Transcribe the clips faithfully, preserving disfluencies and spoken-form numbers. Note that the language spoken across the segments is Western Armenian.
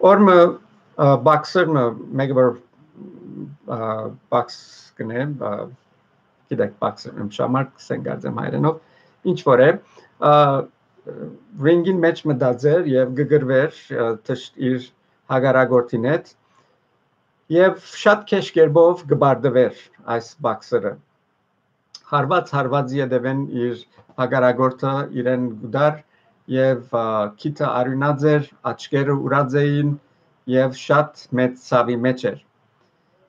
Որ մը, ը, բաքսեր մը, մեկը որ, ը, բաքս կնե, ը, գիտեք, բաքսեր, ըմ, շամարտ կսեն կարծեմ հայերենով, ինչ որ է, ը, ռինգին մեջ մտած էր եւ կը կռվեր, ը, թշ-, իր հակառակորդին հետ, եւ շատ քեշ կերպով կը բարդվեր այս բաքսերը։ Հարված հարվածի ետեւէն իր հակառակորդը իրեն կու տար եւ, ա, քիթը արիւնած էր, աչքերը ուրած էին եւ շատ մեծ ցաւի մեջ էր։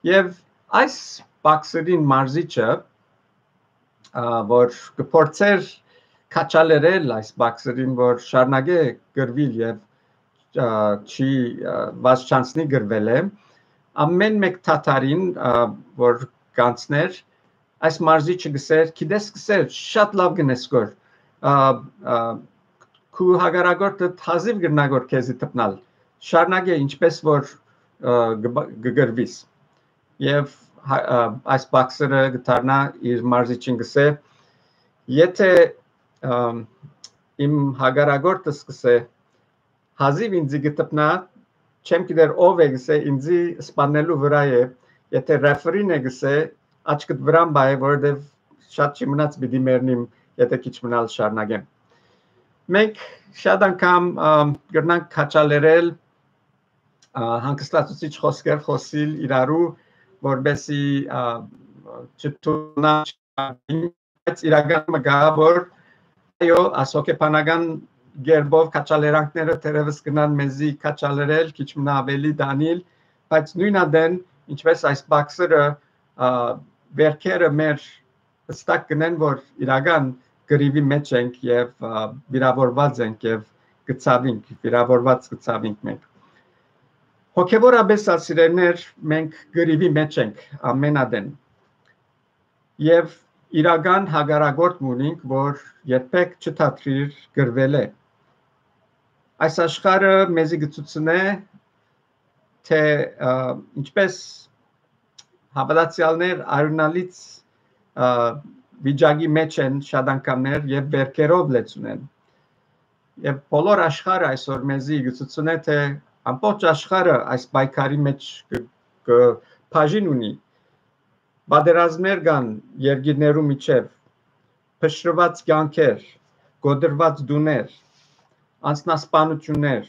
Եւ այս բաքսերին մարզիչը, ա, որ կը փորձեր քաչալերել այս բաքսերին, որ շարունակէ կռվել եւ, ա, չի, ա, վազ չանցնի կռվել է, ամէն մէկ թաթարին, ա, որ կանցներ, այս մարզիչը գսեր, գիտես, գսեր, շատ լավ գնես գոր, ա, ա, քու հակառակորդը հազիւ կրնա գոր քեզի տպնալ, շարունակէ ինչպես որ, ա, կը-, կը կռվիս։ Եւ հա-, ա, այս բաքսերը կդառնայ իր մարզիչին գսէ, եթե, ըմ, իմ հակառակորդս գսէ, հազիւ ինձի կը տպնայ, չեմ գիտեր ով է գսէ, ինձի սպաննելու վրայ է, եթե ռեֆերին է գսէ, աչքդ վրան պահէ, որովհետեւ շատ չի մնաց պիտի մեռնիմ, եթե քիչ մնալ շարունակեմ։ Մենք շատ անգամ, ըմ, կրնանք քաչալերել, ա, հանգստացուցիչ խօսքեր խօսիլ իրարու, որպեսզի, ա, չթուննան, բայց իրական մը կայ, որ այո, այս հոգեբանական կերպով քաչալերանքները թերևս կրնան մեզի քաչալերել, քիչ մնա ավելի դանիլ, բայց նոյն ատեն, ինչպես այս բաքսերը, ա, վերքերը մեր հստակ կնեն, որ իրական կռիւի մեջ ենք եւ, ա, վիրավորված ենք եւ կը ցաւինք, վիրավորված կը ցաւինք մենք։ Հոգեւորապէս, սիրելիներ, մենք կռիւի մեջ ենք ամէն ատեն։ Եւ իրական հակառակորդ մը ունինք, որ երբեք չթատրիր կռվել է։ Այս աշխարհը մեզի կը ցուցնէ, թե, ա, ինչպես հաւատացեալներ արիւնալից, ա, վիճակի մեջ են շատ անգամներ եւ վերքերով լեցուն են։ Եւ բոլոր աշխարհը այսօր մեզի կը ցուցնէ, թե ամբողջ աշխարհը այս պայքարի մեջ կը, կը բաժին ունի։ Պատերազմներ կան երկիրներու միջեւ, փշրուած կեանքեր, կոտրուած տուներ, անձնասպանութիւններ,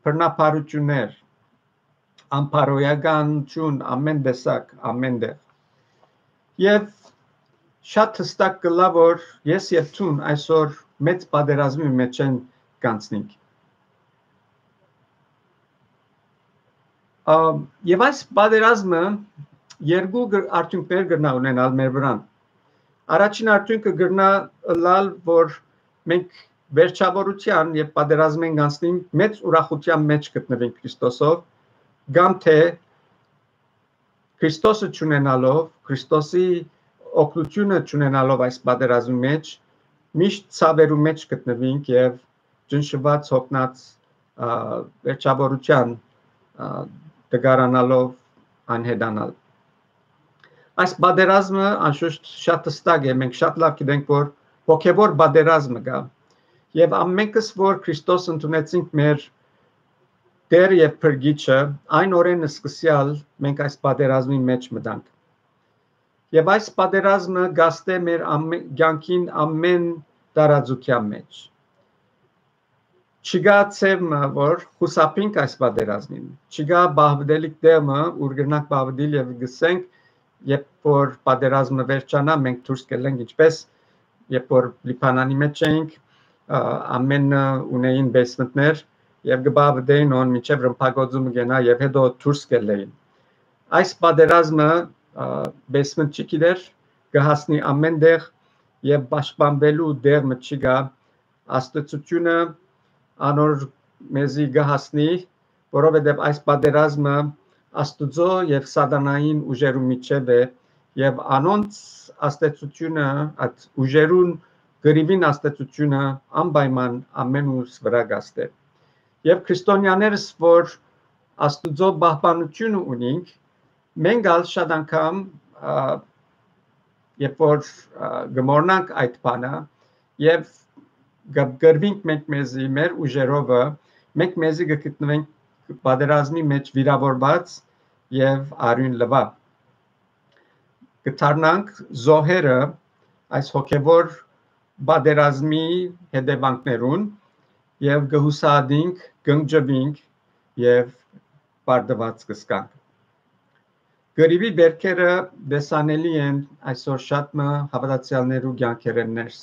բռնաբարութիւններ, անբարոյականութիւն, ամէն տեսակ, ամէն տեղ։ Եւ շատ հստակ կ'ըլլայ, որ ես եւ դուն այսօր մեծ պատերազմի մէջ են կանցնենք։ Ա, եւ այս պատերազմը երկու գր-, արդիւնքներ կրնայ ունենալ մեր վրան։ Առաջին արդիւնքը կրնայ ըլլալ, որ մենք վերջավորութեան եւ պատերազմէն կանցնենք, մեծ ուրախութեան մեջ գտնուենք Քրիստոսով, կամ թէ Քրիստոսը չունենալով, Քրիստոսի օգնութիւնը չունենալով այս պատերազմի մեջ, միշտ ցաւերու մեջ գտնուենք եւ ճնշուած, հոգնած, ա, վերջավորութեան, ա, տկարանալով անհետանալ։ Այս պատերազմը անշուշտ շատ հստակ է, մենք շատ լավ գիտենք, որ հոգեվոր պատերազմը կայ, եւ ամենքս, որ Քրիստոս ընդունեցինք մեր Տեր եւ Փրկիչը, այն օրէն սկսեալ մենք այս պատերազմի մեջ մտանք։ Եւ այս պատերազմը գաստէ մեր ամէ-, կեանքին ամէն տարածութեան մեջ։ Չկայ ձեւ մը, որ խուսափինք այս պատերազմին։ Չկայ պահպանելիք տեղ մը, ուր կրնանք պահպանել եւ գսենք, երբ որ պատերազմը վերջանայ, մենք դուրս կ'ելլենք, ինչպես երբ որ Լիբանանի մեջ էինք, ա, ամէնքը ունէին basement-ներ եւ կը պահպանէին ան մինչեւ ռմբակոծումը կենայ եւ հետո դուրս կ'ելլէին։ Այս պատերազմը, ա, basement չի գիտեր, կը հասնի ամէն տեղ եւ պաշտպանուելու տեղ մը չի գայ, Աստուծոյթը անոր մեզի կը հասնի, որովհետեւ այս պատերազմը Աստուծոյ եւ սատանային ուժերու միջեւ է, եւ անոնց աստեցութիւնը, այդ ուժերուն կռիւին աստեցութիւնը անպայման ամէն ուրս վրայ կ'աստէ։ Եւ քրիստոնեաներս, որ Աստուծոյ պահպանութիւնը ունինք, մենք ալ շատ անգամ, ա, երբ որ, ա, կը մոռնանք այդ բանը, եւ կը կռվինք մենք մեզի, մեր ուժերովը, մենք մեզի կը գտնենք պատերազմի մէջ վիրաւորուած եւ արիւն լուայ։ Կը դառնանք զոհերը այս հոգեւոր պատերազմի հետեւանքներուն եւ կը յուսահատինք, կնջուինք եւ պարտուած կ'ըսկանք։ Կռիւի բերքերը տեսանելի են այսօր շատ մը հաւատացեալներու կեանքերէն ներս,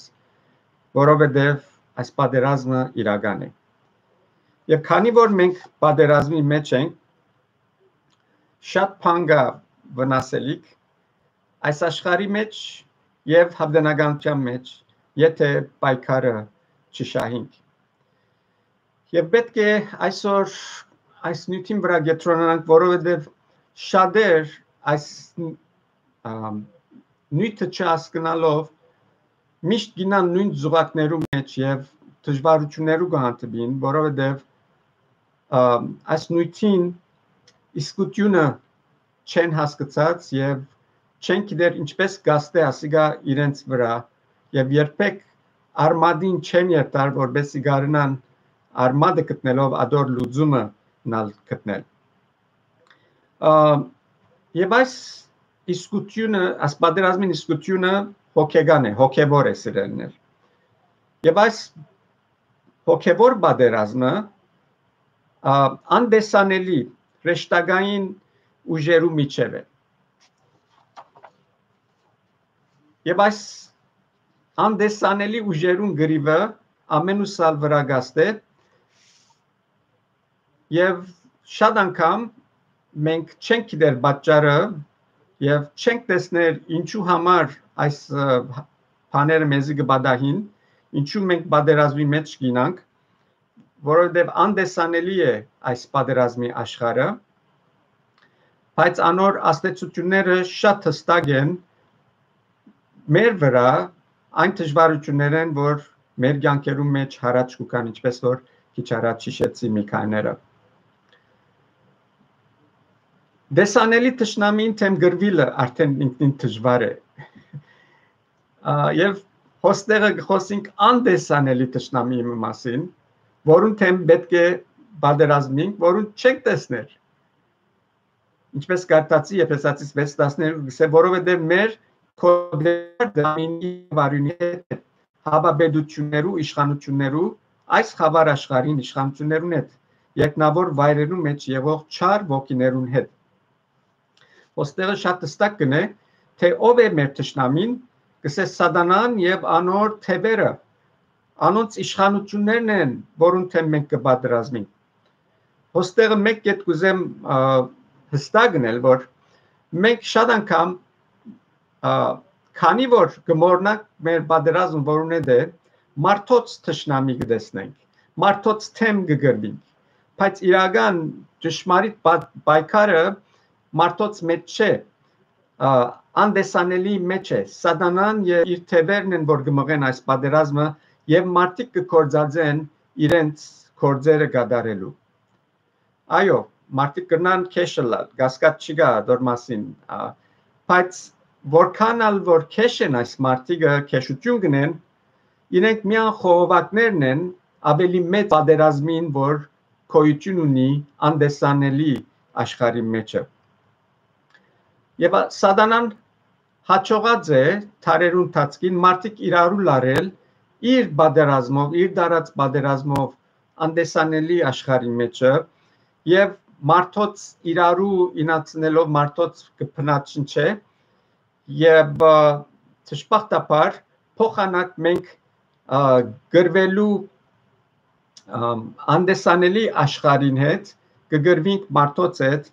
որովհետեւ այս պատերազմը իրական է։ Եւ քանի որ մենք պատերազմի մէջ ենք, շատ բան կայ վնասելիք այս աշխարհի մէջ եւ հաւտենականութեան մէջ, եթէ պայքարը չշահինք։ Եւ պէտք է այսօր այս նիւթին վրայ կեդրոնանանք, որովհետեւ շատեր այս, ամ, նիւթը չհասկնալով միշտ գինան նոյն զուգակներու մէջ եւ դժուարութիւններու կը հանդիպին, որովհետեւ, ամ, այս նիւթին իսկութիւնը չեն հասկցած եւ չեն գիտեր ինչպէս կ'ազդէ ասիկա իրենց վրայ եւ երբեք արմատին չեն երթար, որպէսզի կարենան արմատը գտնելով ատոր լուծումը նալ գտնել։ Ա, եւ այս իսկութիւնը, այս պատերազմին իսկութիւնը հոգեկան է, հոգեվոր է, սիրելիներ։ Եւ այս հոգեվոր պատերազմը, ա, անտեսանելի հրեշտակային ուժերու միջեւ է։ Եւ այս անտեսանելի ուժերուն կռիւը ամենուս ալ վրայ կ'ազդէ, եւ շատ անգամ մենք չենք գիտեր պատճառը եւ չենք տեսներ ինչու համար այս, ը, բաները մեզի կը պատահին, ինչու մենք պատերազմի մէջ կ'ինանք, որովհետեւ անտեսանելի է այս պատերազմի աշխարհը, բայց անոր ազդեցութիւնները շատ հստակ են մեր վրայ, այն դժուարութիւններէն, որ մեր կեանքերուն մէջ յառաջ կու գան, ինչպէս որ քիչ առաջ յիշեցի Միքայէլը։ Տեսանելի թշնամին դէմ կռուիլը արդեն ինքնին դժուար է։ Ա, եւ հոստեղը կը խօսինք անտեսանելի թշնամիի մը մասին, որուն դէմ պէտք է պատերազմենք, որուն չենք տեսներ։ Ինչպէս կարդացի Եփեսացիս վեց տասներկու, կ'ըսէ, որովհետեւ մեր քոդերտը ամինի վարյունի հետ է, հապաբեդութիւններու, իշխանութիւններու, այս խաւար աշխարհին իշխանութիւններուն հետ, երկնաւոր վայրերուն մէջ եղող չար ոգիներուն հետ։ Ոստեղը շատ հստակ կ'ընէ, թէ ով է մեր թշնամին, կ'ըսէ Սատանան եւ անոր թեւերը, անոնց իշխանութիւններն են, որուն դէմ մենք կը պատերազմենք։ Ոստեղը մէկ կետ կ'ուզեմ, ա, հստակ ընել, որ մենք շատ անգամ, ա, քանի որ կը մոռնանք մեր պատերազմը, որուն հետ է, մարդոց թշնամի կը տեսնենք, մարդոց դէմ կը կռուինք, բայց իրական ճշմարիտ պա-, պայքարը մարդոց մէջ չէ, ա, անտեսանելի մէջ է։ Սատանան եւ իր թեւերն են, որ կը մղեն այս պատերազմը եւ մարդիկ կը գործածեն իրենց գործերը կատարելու։ Այո, մարդիկ կրնան քեշ ըլլալ, կասկած չի կայ դոր մասին, ա, բայց որքան ալ որ քեշ են այս մարդիկը, քեշութիւն կ'ընեն, իրենք միայն խողովակներն են ավելի մեծ պատերազմին, որ գոյութիւն ունի անտեսանելի աշխարհի մէջը։ Եւ ա-, Սատանան յաջողած է դարերուն ընթացքին մարդիկ իրարու լարել իր պատերազմով, իր դարած պատերազմով անտեսանելի աշխարհի մէջը եւ մարդոց իրարու ինացնելով մարդոց կը բնաջնջէ եւ, ա, դժբախտաբար փոխանակ մենք, ա, կռուելու, ամ, անտեսանելի աշխարհին հետ, կը կռուինք մարդոց հետ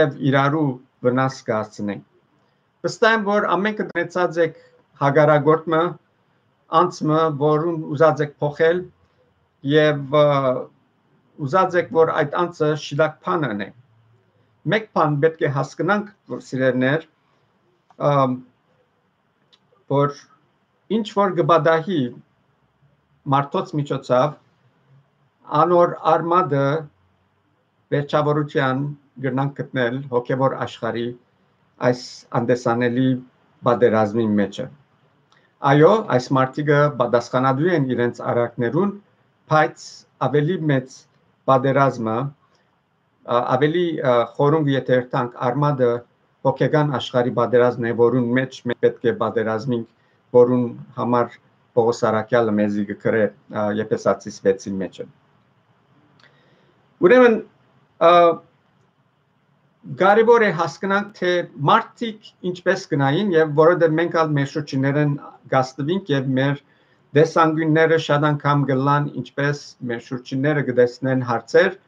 եւ իրարու վնաս կ'հասցնենք։ Վստահ եմ, որ ամենքը դնեցած եք հակառակորդ մը, անձ մը, որուն ուզած եք փոխել եւ, ա, ուզած եք, որ այդ անձը շիլակ բան ընէ։ Մէկ բան պէտք է հասկնանք, որ սիրելիներ, ամ, որ ինչ որ կը պատահի մարդոց միջոցով, անոր արմատը վերջավորութեան կրնանք գտնել հոգեվոր աշխարհի այս անտեսանելի պատերազմի մէջը։ Այո, այս մարդիկը պատասխանատու են իրենց արարքներուն, բայց ավելի մեծ պատերազմը ա, ավելի, ա, խորունկ եթերթանք արմատը հոգեկան աշխարհի պատերազմն է, որուն մեջ մենք պէտք է պատերազմինք, որուն համար Պողոս Առաքեալը մեզի կը գրէ, ա, Եփեսացիս վեցին մեջը։ Ուրեմն, ա, կարեւոր է հասկնանք, թե մարդիկ ինչպես գնային, եւ որովհետեւ մենք ալ մեր շուրջիններէն գաստուինք եւ մեր տեսանկիւնները շատ անգամ գլան, ինչպես մեր շուրջինները կտեսնեն հարցեր,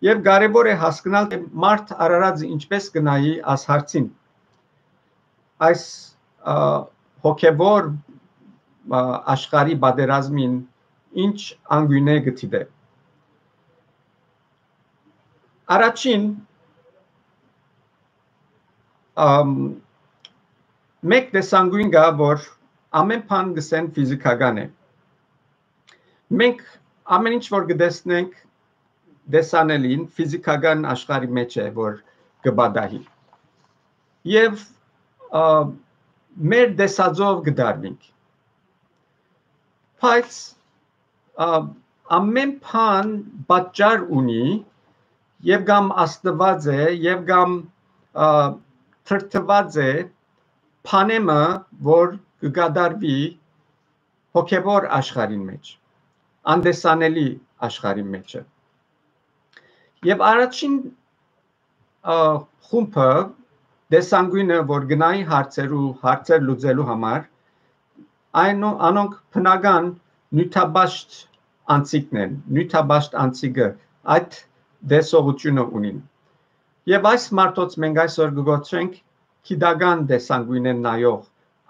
եւ կարեւոր է հասկնալ, թե մարդ արարածը ինչպես գնայի այս հարցին, այս, ա, հոգեվոր, ա, աշխարհի պատերազմին ինչ անգույնը կը դիտէ։ Առաջին, ամ, մէկ տեսանկիւն կայ, որ ամէն բան կ'ըսեն ֆիզիքական է։ Մենք ամէն ինչ որ կտեսնենք տեսանելին, ֆիզիքական աշխարհի մեջ է, որ կը պատահի։ Եւ, ա, մեր տեսածով կը դարվինք։ Բայց, ա, ամէն բան պատճառ ունի, եւ կամ աստուած է, եւ կամ, ա, թրթուած է բանեմը, որ կը կատարուի հոգեվոր աշխարհին մեջ, անտեսանելի աշխարհին մեջը։ Եւ առաջին, ա, խումբը, տեսանկիւնը, որ գնային հարցերու, հարցեր լուծելու համար, այն, անոնք բնական նիւթապաշտ անցիկն են, նիւթապաշտ անցիկը այդ տեսողութիւնը ունին։ Եւ այս մարդոց մենք այսօր կը կոչենք գիտական տեսանկիւնէն նայող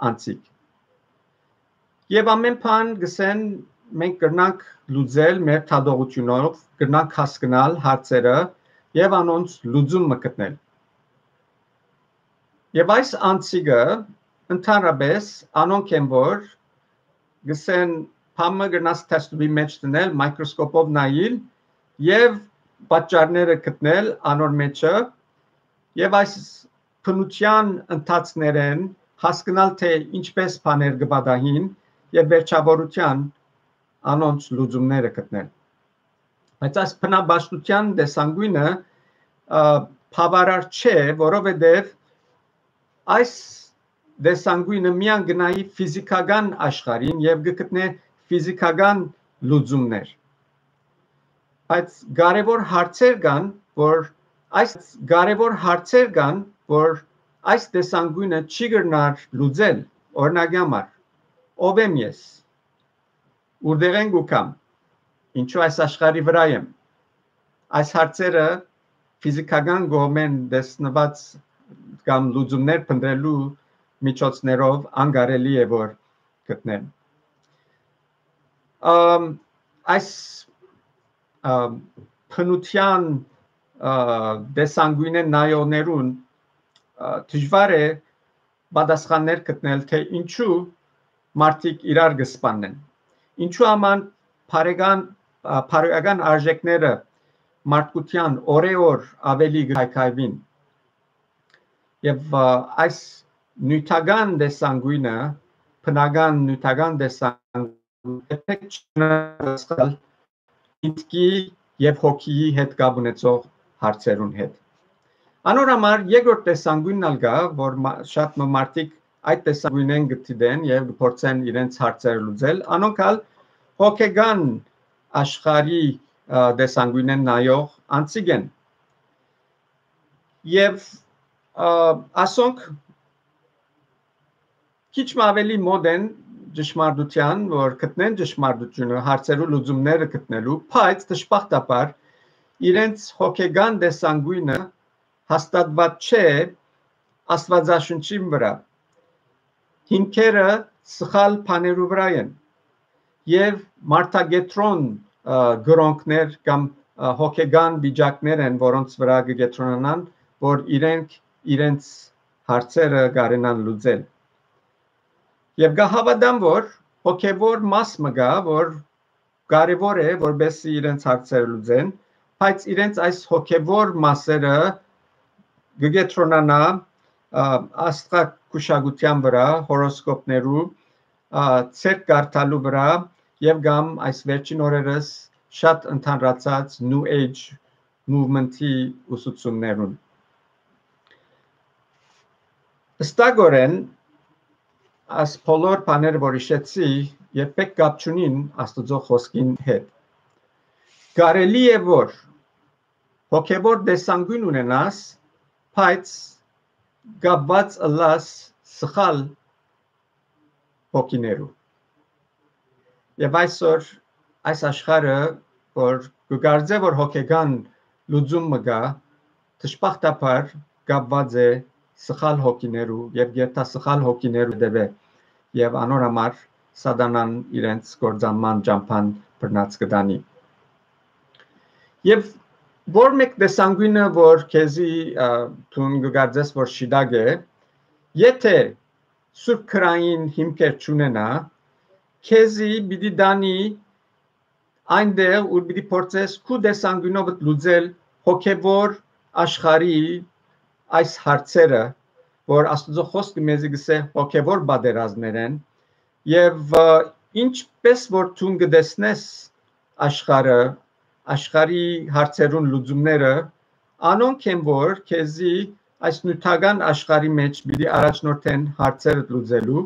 անցիկ։ Եւ ամէն բան գսեն մենք կրնանք լուծել մեր թատողութիւնով, կրնանք հասկնալ հարցերը եւ անոնց լուծում մը գտնել։ Եւ այս անցիկը ընդհանրապես անոնք են, որ գսեն բան մը կրնաս թեստուի մեջ դնել, մայկրոսկոպով նայիլ եւ պատճառները գտնել անոր մեջը, եւ այս բնութեան ընթացքներէն հասկնալ, թե ինչպես բաներ կը պատահին եւ վերջավորութեան անոնց լուծումները գտնել։ Բայց այս բնապաշտութեան տեսանկիւնը, ա, բավարար չէ, որովհետեւ այս տեսանկիւնը միայն գնայի ֆիզիքական աշխարհին եւ կը գտնէ ֆիզիքական լուծումներ։ Բայց կարեւոր հարցեր կան, որ այս կարեւոր հարցեր կան, որ այս տեսանկիւնը չի կրնար լուծել, օրինակի համար, ով եմ ես, ուրդեղէն կու կամ, ինչու այս աշխարհի վրայ եմ։ Այս հարցերը ֆիզիքական կողմէն տեսնուած կամ լուծումներ փնտրելու միջոցներով անկարելի է որ գտնեն։ Ամ, այս, ամ, բնութեան, ա, տեսանկիւնէն նայողներուն, ա, դժուար է պատասխաններ գտնել, թե ինչու մարդիկ իրար կը սպաննեն։ Ինչու համար բարեկան, ա, բարոյական արժեքները մարդկութեան օրէ օր ավելի կը քայքայուին։ Եւ, ա, այս նիւթական տեսանկիւնը, բնական նիւթական տեսանկիւնը, երբեք չի կրնար պատասխանել միտքի եւ հոգիի հետ կապ ունեցող հարցերուն հետ։ Անոր համար երկրորդ տեսանկիւնն ալ կայ, որ մա-, շատ մը մարդիկ այդ տեսանկիւնէն կը դիտեն եւ կը փորձեն իրենց հարցերը լուծել, անոնք ալ հոգեկան աշխարհի, ա, տեսանկիւնէն նայող անցիկ են։ Եւ, ա, ասոնք քիչ մը ավելի մօտ են ճշմարտութեան, որ գտնեն ճշմարտութիւնը, հարցերու լուծումները գտնելու, բայց դժբախտաբար իրենց հոգեկան տեսանկիւնը հաստատուած չէ Աստուածաշունչին վրայ։ Հիմքերը սխալ բաներու վրայ են եւ մարդակեդրոն, ը, գրոնքներ կամ, ը, հոգեկան վիճակներ են, որոնց վրայ կը կեդրոնանան, որ իրենք իրենց հարցերը կարենան լուծել։ Եւ կը հաւատամ, որ հոգեվոր մաս մը կայ, որ կարեւոր է, որպեսզի իրենց հարցերը լուծեն, բայց իրենց այս հոգեվոր մասերը կը կեդրոնանայ, ը, աստղագուշակութեան վրայ, հորոսկոպներու, ը, ձեռք կարդալու վրայ եւ կամ այս վերջին օրերս շատ ընդհանրացած New Age movement-ի ուսուցումներուն։ Հստակօրէն, այս բոլոր բաները որ յիշեցի, երբեք կապ չունին Աստուծոյ խօսքին հետ։ Կարելի է որ հոգեվոր տեսանկիւն ունենաս, բայց կապուած ըլլաս սխալ հոգիներու։ Եւ այսօր այս աշխարհը, որ կը կարծէ որ հոգեկան լուծում մը կայ, դժբախտաբար կապուած է սխալ հոգիներու եւ գերտա սխալ հոգիներու դեւէ, եւ անոր համար Սատանան իրենց կործանման ճամբան բռնած կը տանի։ Եւ որ մէկ տեսանկիւնը որ քեզի, ա, դուն կը կարծես որ շիտակ է, եթէ սուրբ քրային հիմքեր չունենայ, քեզի պիտի տանի այնտեղ, ուր պիտի փորձես քու տեսանկիւնովդ լուծել հոգեվոր աշխարհի այս հարցերը, որ Աստուծոյ խօսքը մեզի կ'ըսէ հոգեվոր պատերազմներ են, եւ, ը, ինչպէս որ դուն կը տեսնես աշխարհը, աշխարհի հարցերուն լուծումները, անոնք են որ քեզի այս նիւթական աշխարհի մէջ պիտի առաջնորդեն հարցերդ լուծելու,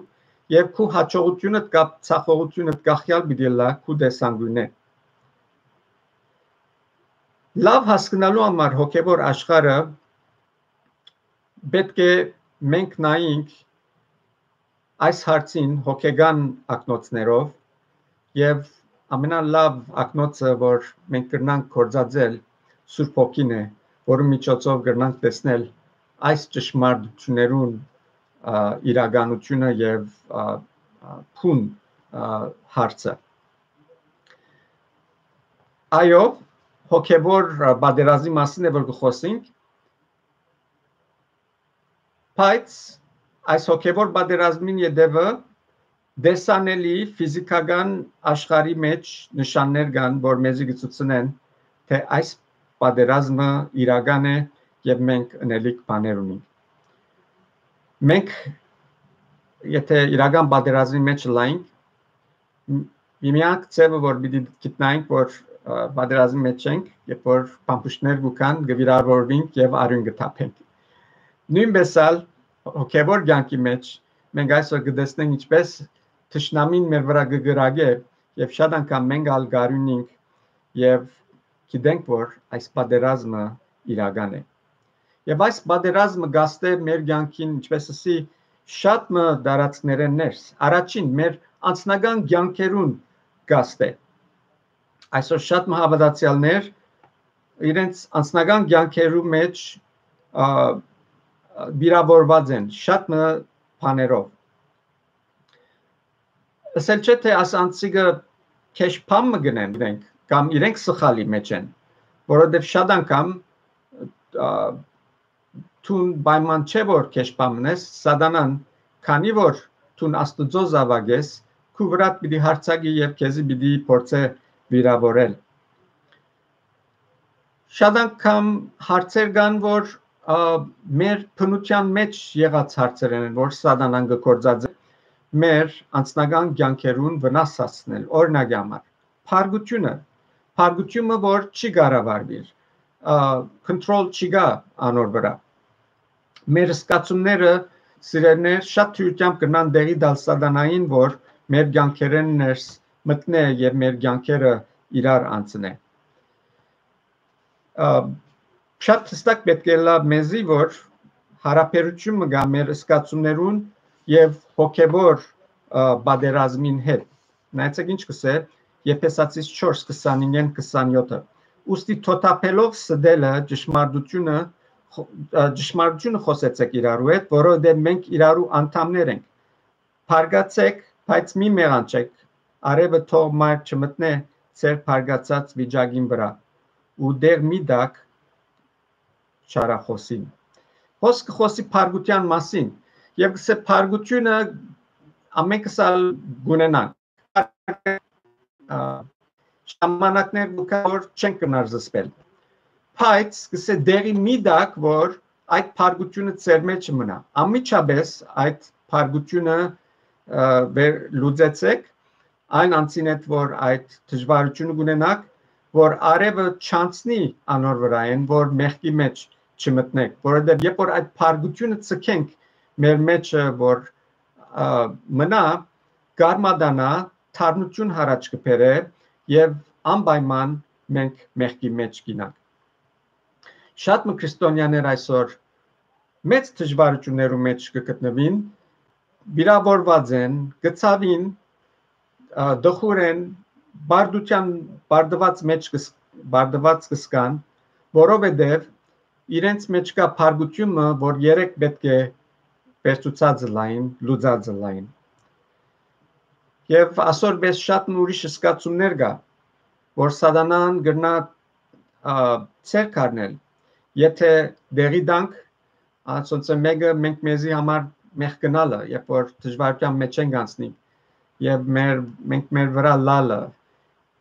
եւ քու յաջողութիւնդ կամ ձախողութիւնդ կախեալ պիտի ըլլայ քու տեսանկիւնէ։ Լաւ հասկնալու համար հոգեվոր աշխարհը պէտք է մենք նայենք այս հարցին հոգեկան ակնոցներով, եւ ամենալաւ ակնոցը որ մենք կրնանք գործածել Սուրբ Հոգին է, որու միջոցով կրնանք տեսնել այս ճշմարտություններուն, ա, իրականությունը եւ, ա, ա, բուն, ա, հարցը։ Այո, հոգեվոր, ա, պատերազմի մասին է որ կը խոսենք, բայց այս հոգեվոր պատերազմին ետեւը տեսանելի ֆիզիքական աշխարհի մէջ նշաններ կան որ մեզի կը ցուցնեն թէ այս պատերազմը իրական է եւ մենք ընելիք բաներ ունենք։ Մենք, եթէ իրական պատերազմի մէջ լայնք, միմեանք ձեւը որ պիտի գիտնայինք որ, ը, պատերազմի մէջ ենք, երբ որ փամփուշտներ կու գան, կը վիրավորվենք եւ արիւն կը թափենք։ Նոյնպէս ալ հոգեվոր կեանքի մէջ մենք այսօր կը տեսնենք ինչպէս թշնամին մեր վրայ կը կրակէ, եւ շատ անգամ մենք ալ կ'արիւնինք եւ գիտենք որ այս պատերազմը իրական է։ Եւ այս պատերազմը գաստէ մեր կեանքին, ինչպէս ասի, շատ մը տարածքներէն ներս։ Առաջին, մեր անձնական կեանքերուն գաստէ։ Այսօր շատ մը հաւատացեալներ իրենց անձնական կեանքերու մէջ, ա, վիրավորված են շատ մը բաներով։ Ասել չէ թէ աս անցիկը քեշ բան մը գնեն իրենք, կամ իրենք սխալի մէջ են, որովհետեւ շատ անգամ, ա, դուն պայման չէ որ քեշ բան մնես, Սատանան, քանի որ դուն Աստուծոյ զաւակ ես, քու վրադ պիտի յարձակի եւ քեզի պիտի փորձէ վիրավորել։ Շատ անգամ հարցեր կան որ, ա, մեր բնութեան մէջ եղած հարցեր են որ Սատանան կը գործածէ մեր անձնական կեանքերուն վնաս հասցնել, օրինակի համար, փառքութիւնը, փառքութիւնը որ չի կառավարուիր, ա, control չի գայ անոր վրայ։ Մեր զգացումները, սիրելիներ, շատ թիւրությամբ կրնան տեղի տալ Սատանային որ մեր կեանքերէն ներս մտնէ եւ մեր կեանքերը իրար անցնէ։ Ա, շատ հստակ պէտք է ըլլայ մեզի որ յարաբերութիւն մը կայ մեր զգացումներուն եւ հոգեվոր, ա, պատերազմին հետ։ Նայեցեք ինչ կ'ըսէ Եփեսացիս չորս, քսանհինգ, քսանյոթը. «Ուստի թօթափելով ստելը ճշմարտությունը խո-, ա, ճշմարտությունը խօսեցեք իրարու հետ, որովհետեւ մենք իրարու անդամներ ենք։ Բարկացեք, բայց մի մեղանչեք, արեւը թող մայր չմտնէ ձեր բարկացած վիճակին վրայ, ու դեղ մի տաք չարախօսին»։ Հոս կը խօսի փառքութեան մասին եւ կ'ըսէ փառքութիւնը ամենքս ալ կ'ունենանք։ Ա, ժամանակներ կու գայ որ չենք կրնար զսպել։ Բայց կ'ըսէ դեղի մի տաք որ այդ փառքութիւնը ձեր մէջ մնայ։ Անմիջապէս այդ փառքութիւնը, ա, վեր լուծեցեք այն անձին հետ որ այդ դժվարութիւնը կունենաք, որ արեւը չանցնի անոր վրայէն, որ մեղքի մէջ չմտնենք, որովհետեւ երբ որ այդ փառկութիւնը ցկենք մեր մէջը, որ, ը, մնայ, կ'արմատանայ, թարմութիւն յառաջ կը բերէ եւ անպայման մենք մեղքի մէջ կ'իյնանք։ Շատ մը քրիստոնեաներ այսօր մեծ դժուարութիւններու մէջ կը գտնուին, վիրաւորուած են, կը ցաւին, ը, տխուր են, բարդութեան, բարդուած մէջ կը ս-, բարդուած կը զգան, որովհետեւ իրենց մէջ կայ փառկութիւն մը, որ երեկ պէտք է վերցուցած ըլլային, լուծած ըլլային։ Եւ ասոր պէս շատ մը ուրիշ զգացումներ կայ, որ սատանան կրնայ, ա, ձեռք առնել, եթէ տեղի տանք, անոնցմէ մէկը մենք մեզի համար մեղք կ'ընելը, երբ որ դժուարութեան մէջ ենք անցնի, եւ մեր, մենք մեր վրայ լալը,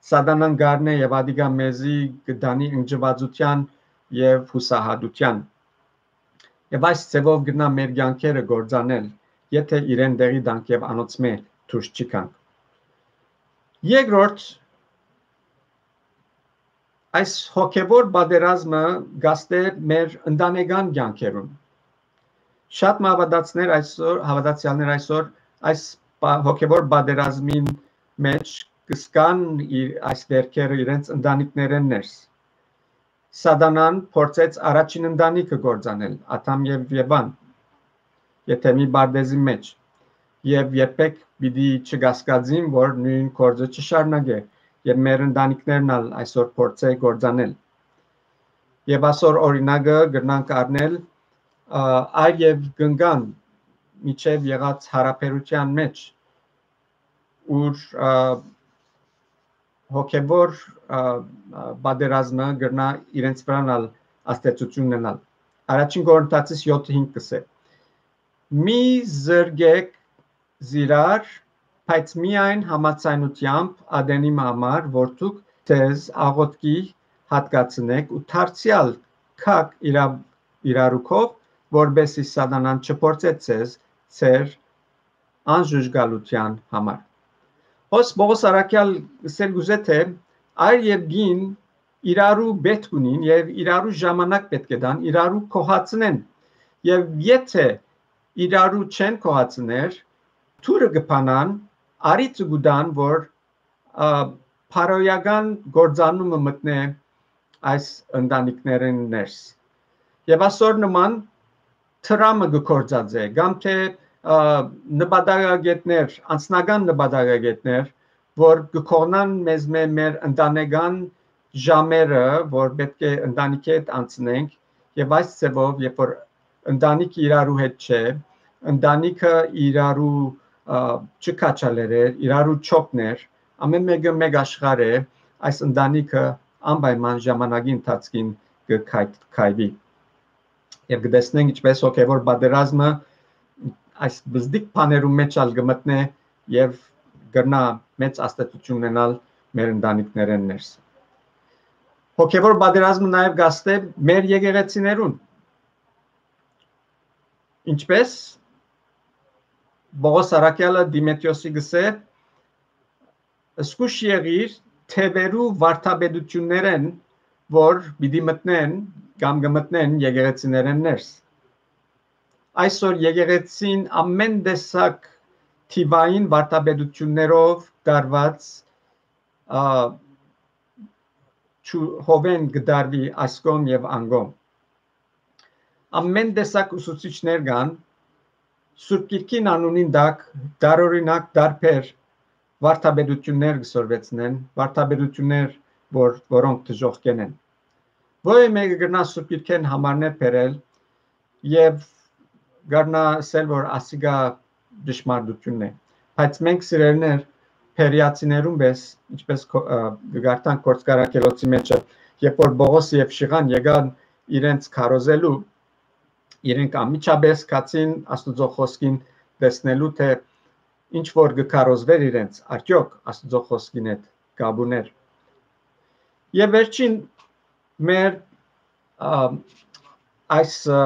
սատանան կ'առնէ եւ ատիկա մեզի կը տանի ընկճուածութեան եւ յուսահատութեան։ Եւ այս ձեւով կրնայ մեր կեանքերը կործանել, եթէ իրեն տեղի տանք եւ անոնցմէ դուրս չի գանք։ Երկրորդ, այս հոգեվոր պատերազմը կ'ազդէ մեր ընտանեկան կեանքերուն։ Շատ մը հաւատացներ այսօր, հաւատացեալներ այսօր այս պա-, հոգեվոր պատերազմին մէջ կը զգան իր այս վերքերը իրենց ընտանիքներէն ներս։ Սատանան փորձեց առաջին ընտանիքը կործանել, Ադամ եւ Եվան, Եդեմի պարտէզի մէջ, եւ երբեք պիտի չկասկածին, որ նոյն գործը չշարունակէ եւ մեր ընտանիքներն ալ այսօր փորձէ կործանել։ Եւ ասոր օրինակը կրնանք առնել, ա, այր եւ կնկան միջեւ եղած յարաբերութեան մէջ, ուր, ա, հոգեվոր, ա, ա, պատերազմը կրնայ իրենց վրան ալ ազդեցութիւն ունենալ։ Առաջին Կորինթացիս յոթը հինգ կ'ըսէ. «Մի զրկեք զիրար, բայց միայն համաձայնութեամբ ատենի համար, որ դուք ձեզ աղօթքի յատկացնէք ու դարձեալ գաք իրա-, իրարուքով, որպեսզի սատանան չփորձէ ձեզ ձեր անժուժկալութեան համար»։ Հոս Պողոս առաքեալ ըսել կ'ուզէ, թէ այր եւ կին իրարու պէտք ունին եւ իրարու ժամանակ պէտք է տան, իրարու կ'ուհացնեն։ Եւ եթէ իրարու չեն կ'ուհացներ, դուռը կը բանան, առիթը կու տան, որ, ա, բարոյական կործանումը մտնէ այս ընտանիքներէն ներս։ Եւ ասոր նման թրամը կը կործածէ, կամ թէ, ա, նպատակագետներ, անձնական նպատակագետներ, որ կը կողնան մեզմէ մեր ընտանեկան ժամերը, որ պէտք է ընտանիքի հետ անցնենք, եւ այս ձեւով, երբ որ ընտանիքը իրարու հետ չէ, ընտանիքը իրարու, ա, չքաչալեր է, իրարու չօգներ, ամէն մէկը մէկ աշխարհ է, այս ընտանիքը անպայման ժամանակի ընթացքին կը քայ-, քայլի։ Եւ կը տեսնենք ինչպես հոգեվոր պատերազմը այս բզդիկ բաներու մէջ ալ կը մտնէ եւ կրնայ մեծ ազդեցութիւն ունենալ մեր ընտանիքներէն ներս։ Հոգեվոր պատերազմը նաեւ կ'ազդէ մեր եկեղեցիներուն։ Ինչպես Պողոս առաքեալը Դիմեթրիոսի կ'ըսէ. «Զգուշ եղիր թեւերու վարդապետութիւններէն, որ պիտի մտնեն կամ կը մտնեն եկեղեցիներէն ներս»։ Այսօր եկեղեցին ամէն տեսակ թիւային վարդապետութիւններով տարուած, ա, չու-, հովէն կը տարուի այս կողմ եւ ան կողմ։ Ամէն տեսակ ուսուցիչներ կան, Սուրբ Գիրքին անունին տակ տարօրինակ տարբեր վարդապետութիւններ կը սորվեցնեն, վարդապետութիւններ, որ, որոնք դժոխքեն են։ Որեւէ մէկը կրնայ Սուրբ Գիրքէն համարներ բերել եւ կրնայ ըսել, որ ասիկա ճշմարտութիւնն է։ Բայց մենք, սիրելիներ, Բերիացիներուն պէս, ինչպես քո-, ը, կը կարդանք Գործք առաքելոցի մէջը, երբ որ Պողոս եւ Շիղան եկան իրենց քարոզելու, իրենք անմիջապէս գացին Աստուծոյ խօսքին, տեսնելու, թէ ինչ որ կը քարոզվէր իրենց, արդեօք Աստուծոյ խօսքին հետ կապ ունէր։ Եւ վերջին մեր, ա, այս, ա,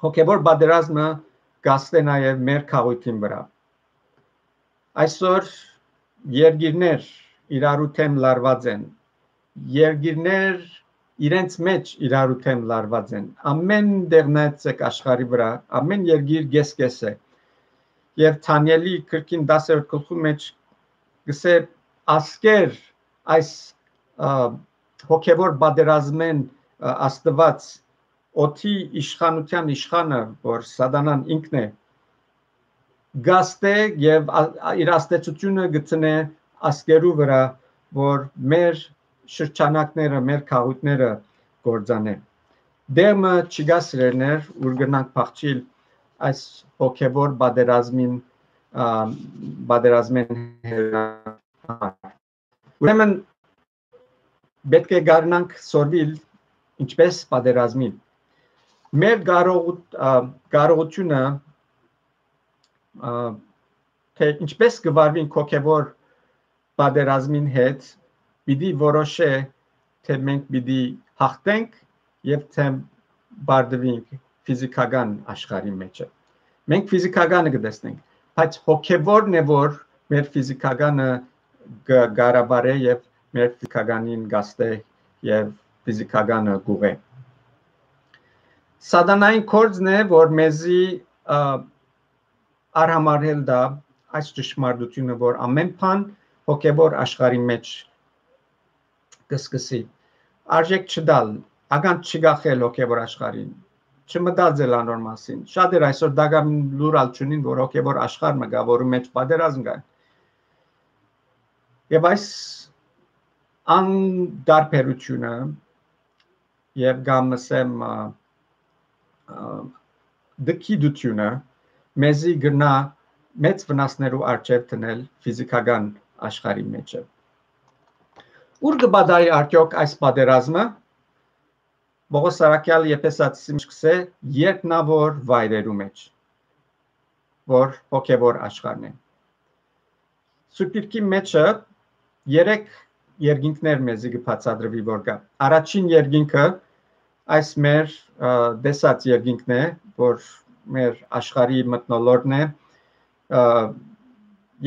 հոգեվոր պատերազմը կ'ազդէ նաեւ մեր քաղաքին վրայ։ Այսօր երկիրներ իրարու դէմ լարուած են, երկիրներ իրենց մեջ իրարու դէմ լարուած են։ Ամէն տեղ նայեցեք աշխարհի վրայ, ամէն երկիր կես-կես է։ Եւ Դանիէլի քրքին տասերորդ գլխու մեջ կսէ, ասկեր այս, ա, հոգեվոր պատերազմեն, ա, Աստուած, օդի իշխանութեան իշխանը, որ Սատանան ինքն է, գաստէ եւ ա-, ա-, իր ազդեցութիւնը գցնէ ասկերու վրայ, որ մեր շրջանակները, մեր քաղաքները կործանեն։ Դերմը չի գա սիրելիներ, ուր գնանք փախչիլ այս հոգեվոր պատերազմին, ա, պատերազմեն հեռ-, ուրեմն պէտք է գարնանք սորվիլ ինչպես պատերազմին։ Մեր կարող-, ա, կարողությունը, ա, թե ինչպես կվարվին հոգեվոր պատերազմին հետ, պիտի որոշէ, թե մենք պիտի հաղթենք եւ թե բարդվենք ֆիզիքական աշխարհի մեջը։ Մենք ֆիզիքականը կտեսնենք, բայց հոգեվորն է, որ մեր ֆիզիքականը կ-, կառավարէ եւ մեր ֆիզիքականին գաստէ եւ ֆիզիքականը կուղղէ։ Սատանային գործն է, որ մեզի, ա, արհամարհել տայ այս ճշմարտությունը, որ ամէն բան հոգեվոր աշխարհի մեջ կսկսի։ Արժեք չտալ, ականջ չկախել հոգեվոր աշխարհին, չմտածել անոր մասին։ Շատ էր այսօր դակամին լուր ալ չունին, որ հոգեվոր աշխարհ մը կայ, որու մեջ պատերազմ կայ։ Եւ այս անդարբերությունը եւ կամ, ասեմ, ա, ա, դքիդությունը մեզի կրնայ մեծ վնասներու առջեւ դնել ֆիզիքական աշխարհի մեջը։ Ո՞ւր կը պատահի արդեօք այս պատերազմը։ Պողոս Սարաքեալ Եփեսացի միշկսէ երկնաւոր վայրերու մեջ, որ հոգեվոր աշխարհն է։ Սուրբ Գիրքի մեջը երեք երկինքներ մեզի կը բացատրուի, որ կայ։ Առաջին երկինքը այս մեր, ը, տեսած երկինքն է, որ մեր աշխարհի մթնոլորտն է, ը,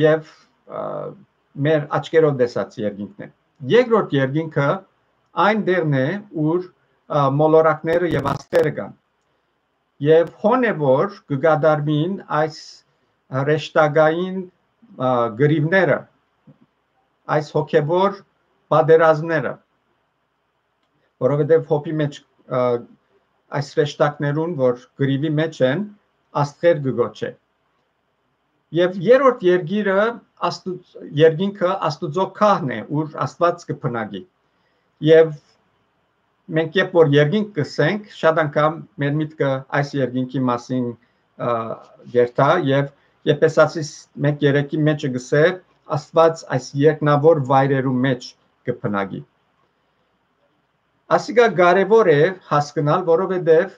եւ, ը, մեր աչքերով տեսած երկինքն է։ Երկրորդ երկինքը այն տեղն է, ուր, ը, մոլորակները եւ աստղերը կան։ Եւ հոն է, որ կը կատարուին այս հրեշտակային, ը, կռիւները, այս հոգեվոր պատերազմները, որովհետեւ Յոբի մեջ, ը, այս հրեշտակներուն, որ կռիւի մեջ են, աստղեր կը գոչէ։ Եւ երրորդ երկիրը, Աստուծ-, երկինքը Աստուծոյ գահն է, ուր Աստուած կը բնակի։ Եւ մենք երբ որ երկինք կ'ըսենք, շատ անգամ մեր միտքը այս երկինքի մասին, ը, կ'երթայ, եւ Եփեսացիս մէկ երեքի մեջը կ'ըսէ, Աստուած այս երկնաւոր վայրերու մեջ կը բնակի։ Ասիկա կարեւոր է հասկնալ, որովհետեւ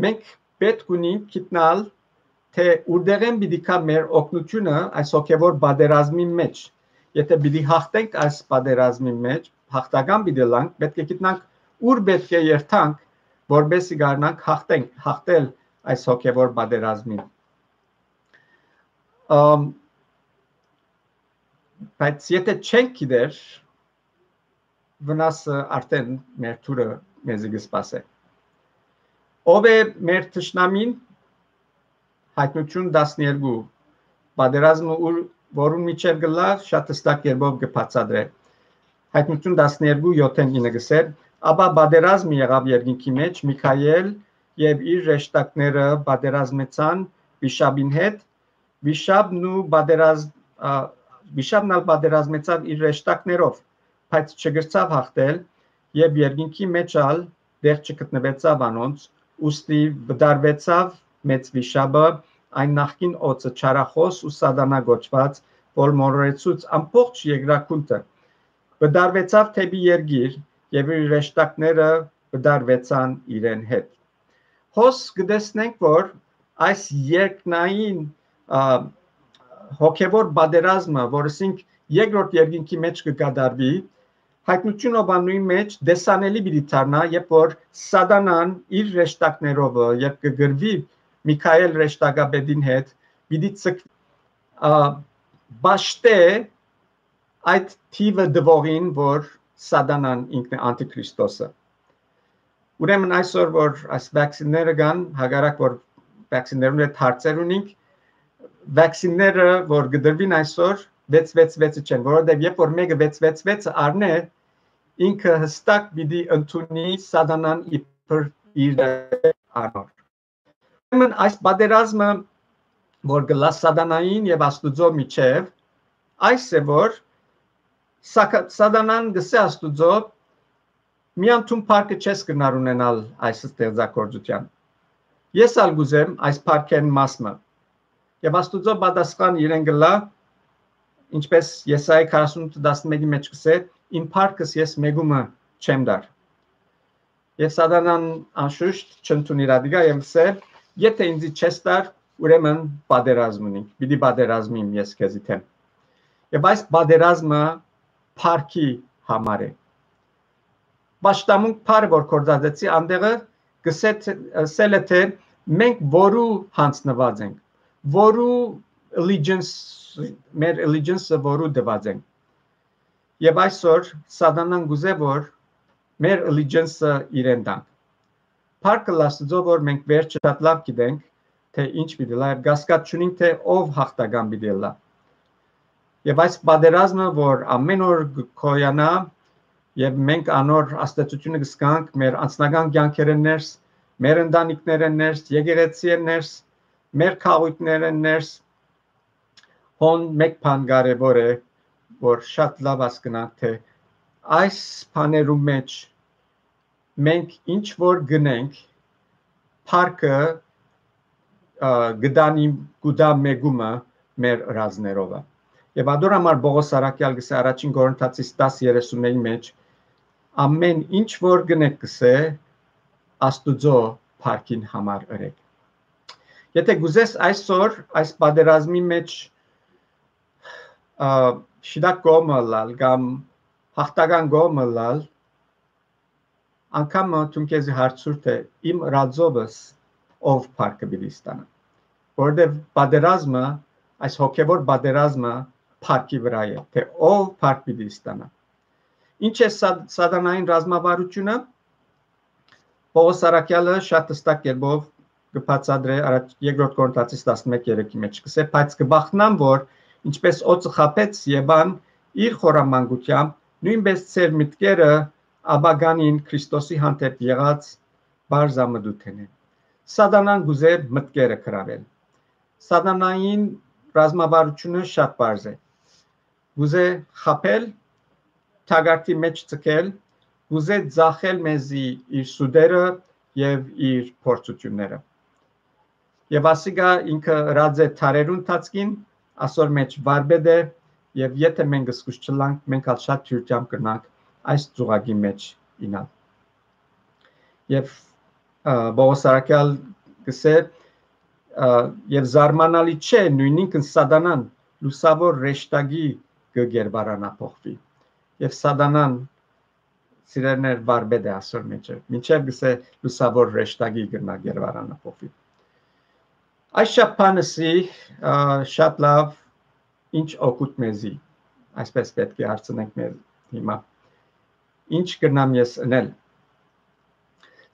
մենք պէտք ունենք գիտնալ, թէ ուրդեղէն պիտի գայ մեր օգնութիւնը այս հոգեվոր պատերազմին մեջ։ Եթէ պիտի հաղթենք այս պատերազմին մեջ, հաղթական պիտի ըլլանք, պէտք է գիտնանք, ուր պէտք է երթանք, որպեսզի կարենանք հաղթենք, հաղթել այս հոգեվոր պատերազմին։ Ամ, բայց եթէ չենք գիտեր, վնասը արդեն մեր թուրը մեզի կը սպասէ։ Ո՞վ է մեր թշնամին։ Յայտնութիւն տասներկու, պատերազմը ուր, որուն միջեր կ'ըլլայ, շատ հստակ կերպով կը բացատրէ։ Յայտնութիւն տասներկու յոթ ինը կ'ըսէ. «Ապա պատերազմ եղաւ երկինքի մեջ, Միքայէլ եւ իր հրեշտակները պատերազմեցան վիշապին հետ, վիշապն ու պատերազմ-, ա, վիշապն ալ պատերազմեցաւ իր հրեշտակներով, բայց չկրցաւ հաղթել, եւ երկինքի մեջ ալ տեղ չգտնուեցաւ անոնց, ուստի վտարուեցաւ մեծ վիշապը, այն նախկին օծը, չարախոս ու սատանա կոչուած, որ մոլորեցուց ամբողջ երկրագունդը։ Վտարուեցաւ դէպի երկիր, եւ իր հրեշտակները վտարուեցան իրեն հետ»։ Հոս կը տեսնենք, որ այս երկնային, ա, հոգեվոր պատերազմը, որ ասինք երկրորդ երկինքի մեջ կը կատարուի, Յայտնութիւն Յովհաննուի մեջ տեսանելի պիտի դառնայ, երբ որ սատանան իր հրեշտակներովը, երբ կը կռուի Միքայէլ հրեշտակապետին հետ, պիտի ցկվի, ա, պաշտէ այդ թիւը տուողին, որ Սատանան ինքն է անտիքրիստոսը։ Ուրեմն այսօր որ այս վաքսինները կան, հակառակ որ վաքսիններուն հետ հարցեր ունինք, վաքսինները որ կդրվին այսօր վեց վեց վեցը չեն, որովհետեւ երբ որ մեկը վեց վեց վեցը առնէ, ինքը հստակ պիտի ընդունի Սատանան իբր իր անոր։ Ուրեմն այս պատերազմը որ գլա Սատանային եւ Աստուծոյ միջեւ, այս է որ Սակա- Սատանան գսե Աստուծոյ, միան դուն փառքը չես կրնար ունենալ այս ստեղծագործութեան։ Ես ալ կուզեմ այս փառքէն մաս մը։ Եւ Աստուծոյ պատասխան իրեն գլա, ինչպես Եսայի քառասունութ տասնմէկի մեջ կսե, իմ փառքս ես մեկումը չեմ դար։ Եւ Սատանան անշուշտ չընդունի իր ադիգա եւ սե, եթե ինձի չես տար, ուրեմն պատերազմ ունի, պիտի պատերազմիմ ես քեզի դեմ։ Եւ այս պատերազմը փառքի համար է։ Պաշտամունք փառը որ կործածեցի, անդեղը գսե թե- սել է թե մենք որու հանձնված ենք, որու allegiance, մեր allegiance-ը որու դված ենք։ Եւ այսօր Սատանան գուզե որ մեր allegiance-ը իրեն տանք։ Փառքը լաստուծո որ մենք վերջը շատ լավ գիտենք, թե ինչ պիտի լա, եւ կասկած չունենք, թե ով հաղթական պիտի լա։ Եվ այս պատերազմը որ ամեն օր գոյանա, եւ մենք անոր աստեցությունը կսկանք մեր անձնական կյանքերեն ներս, մեր ընտանիքներեն ներս, եկեղեցիեն ներս, մեր քաղաքներեն ներս, հոն մեկ բան կարեւոր է, որ շատ լավ հասկնանք, թե այս բաներու մեջ մենք ինչ որ գնենք, փառքը, ը, գտանի, գուտա մեկումը մեր ըրածներովը։ Եվ ադոր համար Պողոս Արաքեալ գսե առաջին Կորինթացիս տաս երեսունմէկի մեջ, ամեն ինչ որ գնեք գսե, Աստուծո փառքին համար ըրեք։ Եթե գուզես այսօր այս պատերազմի մեջ, ը, շիտակ կողմը ըլլալ կամ հաղթական կողմը ըլլալ, անգամ դուն քեզի հարցուր, թե իմ ըրածովս ով փառքը պիտի ստանա։ Որովհետև պատերազմը, այս հոգևոր պատերազմը փառքի վրա է, թե ով փառք պիտի ստանա։ Ինչ է սա- սատանային ռազմավարությունը։ Պողոս Արաքեալը շատ հստակ կերպով կը բացատրէ առաջ երկրորդ Կորինթացիս տասնմեկ երեքի մեջ, կսե, բայց կբախնամ, որ ինչպես օծը խաբեց Եվան իր խորամանկությամբ, նույնպես ձեր մտքերը ապագանին Քրիստոսի հանդեպ եղած պարզամտութենէն։ Սատանան գուզե մտքերը գրավել։ Սատանային ռազմավարությունը շատ պարզ է։ Գուզե խաբել, թագարտի մեջ ձգել, գուզե ձախել մեզի իր սուտերը և իր փորձությունները։ Եվ ասիկա ինքը ըրած է դարերուն ընթացքին, ասոր մեջ վարպետ է, և եթե մենք զգուշ չլանք, մենք ալ շատ դիւրությամբ կրնանք այս ծուղակի մեջ ինալ։ Եվ, ը, Պողոս Արաքեալ կսե, ը, և զարմանալի չէ, նույնինքն սատանան լուսավոր ռեշտագի կը գերբարանափոխվի։ Եվ սատանան, սիրելիներ, վարպետ է ասոր մեջը, մինչև կսե լուսավոր ռեշտագի կրնա գերբարանափոխվի։ Այս շատ բանը սի, ը, շատ լավ, ինչ օգուտ մեզի, այսպես պետք է հարցնենք մեր հիմա։ Ինչ կրնամ ես ընել։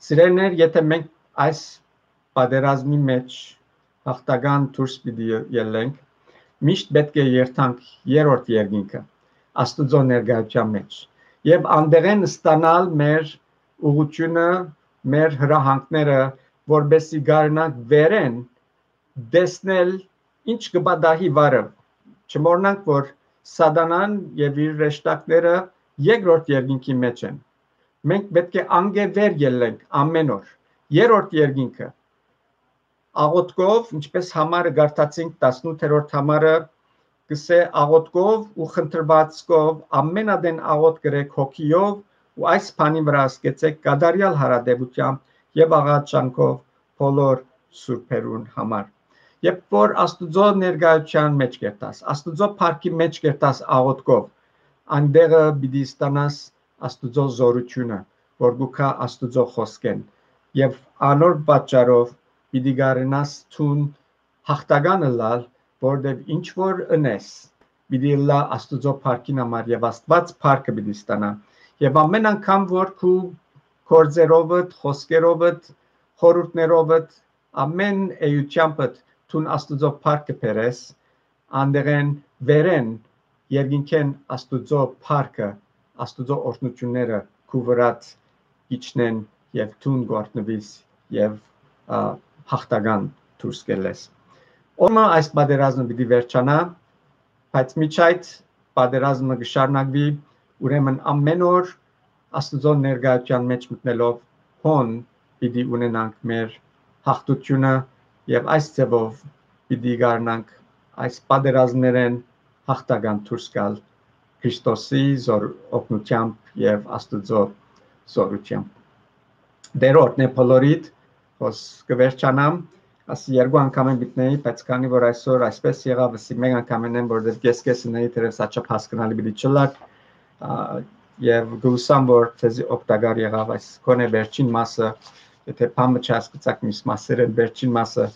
Սիրելիներ, եթե մենք այս պատերազմի մեջ հաղթական դուրս պիտի ելենք, միշտ պետք է երթանք երրորդ երկինքը, Աստուծո ներկայության մեջ, և անդեղեն ստանալ մեր ուղղությունը, մեր հրահանգները, որպեսզի կարենանք վերեն տեսնել ինչ կը պատահի վարը։ Չմոռնանք, որ սատանան և իր ռեշտակները երկրորդ երկինքի մեջ են։ Մենք պետք է անկէ վեր ելլենք ամեն օր։ Երրորդ երկինքը, աղոթքով, ինչպես համարը կարդացինք, տասնութերորդ համարը, կսե, աղոթքով ու խնդրվածքով ամենատեն աղոթք գրեք հոգիով ու այս բանի վրա ասկեցեք կատարյալ հարատեւությամբ և աղաչանքով բոլոր սուրբերուն համար։ Երբ որ Աստուծո ներկայության մեջ կերտաս, Աստուծո փառքի մեջ կերտաս աղոթքով, այնտեղը պիտի ստանաս Աստուծո զորությունը, որ գուքա Աստուծո խոսքեն, և անոր պատճառով պիտի կարենաս թուն հաղթական ըլլալ, որտեւ ինչ որ ընես, պիտի ըլլա Աստուծո փառքին համար, և Աստված փառքը պիտի ստանա, Եւ ամէն անգամ որ քու գործերովդ, խօսքերովդ, խորհուրդներովդ, ամէն էութեամբդ դուն Աստուծոյ փառքը բերես, անտեղէն վերէն երկնքէն Աստուծոյ փառքը, Աստուծոյ օրհնութիւնները քու վրադ կ'իջնեն եւ դուն կ'օրհնուիս եւ, ա, յաղթական դուրս կ'ելլես։ Օրը այս պատերազմը պիտի վերջանայ, բայց մինչ այդ պատերազմը կը շարունակուի, ուրեմն ամէն օր Աստուծոյ ներկայութեան մէջ մտնելով հոն պիտի ունենանք մեր յաղթութիւնը եւ այս ձեւով պիտի կարենանք այս պատերազմներէն յաղթական դուրս գալ Քրիստոսի զոր-, օգնութեամբ եւ Աստուծոյ զորութեամբ։ Տէր օրհնէ բոլորիդ, հոս կը վերջանամ, ասի երկու անգամ եմ գտնեի, բայց քանի որ այսօր այսպես եղաւ, ասի մեկ անգամ եմ, որովհետեւ կես-կես ընէի, թերեւս աչափ հասկնալի պիտի չըլլար, ա, եւ կ'ուսամ որ թեզի օգտակար եղաւ այս քոնէ վերջին մասը, եթե բան մը չհասկացաք միս մասերէն, վերջին մասը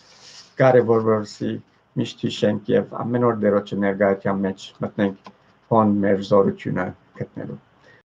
կարեւոր որ սի միշտ յիշենք եւ ամէն օր Տէրոջը ներկայութեան մէջ մտնենք հոն մեր զորութիւնը գտնելու։